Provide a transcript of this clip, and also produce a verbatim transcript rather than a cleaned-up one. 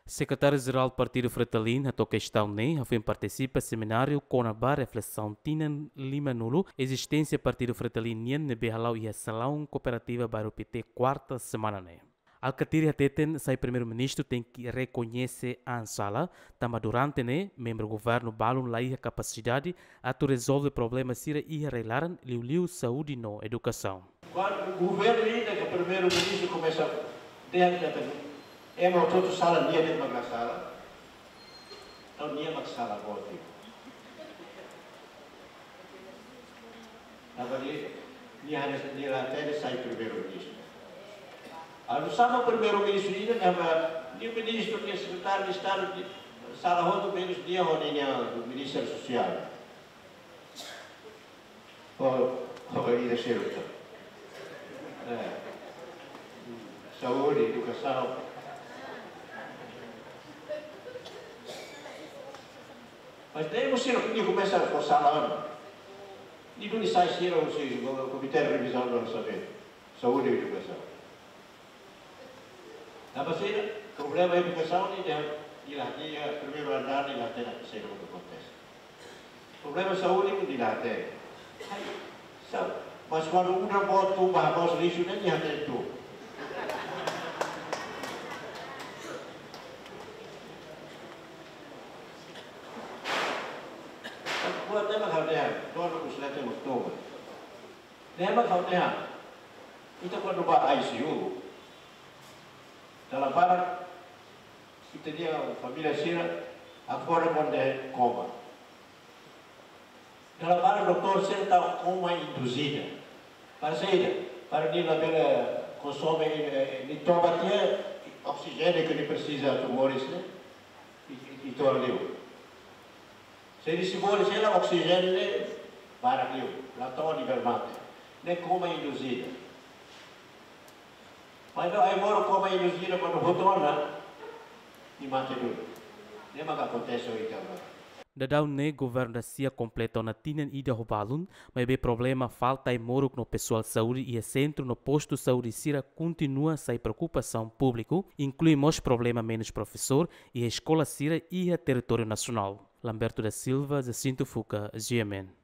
Sekretáriu-Jerál Partidu Fretilin hato'o kestaun ne'e hafoin partisipa semináriu kona-ba reflesaun tinan lima-nulu ezisténsia Partidu Fretilin nian ne'ebé hala'o iha Salaun Kooperativa Bairru Pité, kuarta semana ne'e. Alkatiri hateten sai Primeiru-Ministru tenke rekoñese an sala, tanba durante ne'e membru governu balun laiha kapasidade atu rezolve problema sira iha rai-laran, liuliu saúde no edukasaun. Kuandu governu ida ke Primeiru-Ministru komesa dehan katak ema hotu-hotu sala, nia de'it mak la sala. Entaun nia mak sala boot. Tanba nia, nia haree, nia la hatene sai Primeiru-Ministru. Entaun sama Primeiru-Ministru ida, tanba nia ministru, nia sekretáriu de Estadu, nia sala hotu, menus nia ho nia Ministru Sosiál. Ho, ho ida seluk. Eh, saúde, edukasaun. Mas daí você não podia começar a forçar lá, não. Nia duni sai sira husi Komité Revizaun Orsamentu, saúde i edukasaun. Tanba sira, problema edukasaun ne'e, nia la, nia primeiru andár nia la hatene saida mak akontese. Problema saúde nia la hatene. Ai, sa-, mas kuandu udan boot tun ba mós lixu ne'e nia hatene tun. Buat ne'e mak ha'u dehan, donu ku selete mak toma. Ne'e mak ha'u dehan. Ita kuandu ba I C U, dala barak ita-nia família sira akorda kuandu dehan koma. Dala barak doutór sira tau koma induzida. Para saida? Para nia labele konsome, eh, nia toba tiha oksijéniu ke nia presiza atu moris ne'e, i, i, i to'o liu. Se nia sei moris, se la oksijéniu ne'e barak liu, la to'o nia bele mate. Ne'e koma induzida. Mas no ai moro koma induzida kuandu hotu ona, nia mate duni. Ne'e mak akontese ohin agora. Daudaun ne'e governu da sia kompleta ona tinan ida ho balun, maibé problema falta ai-moruk no pesoál saúde iha sentru no postu saúde sira kontinua sai preokupasaun públiku, inklui mós problema menus profesór iha eskola sira iha territóriu nasionál. Lamberto da Silva, Jacinto Fuca, G M N.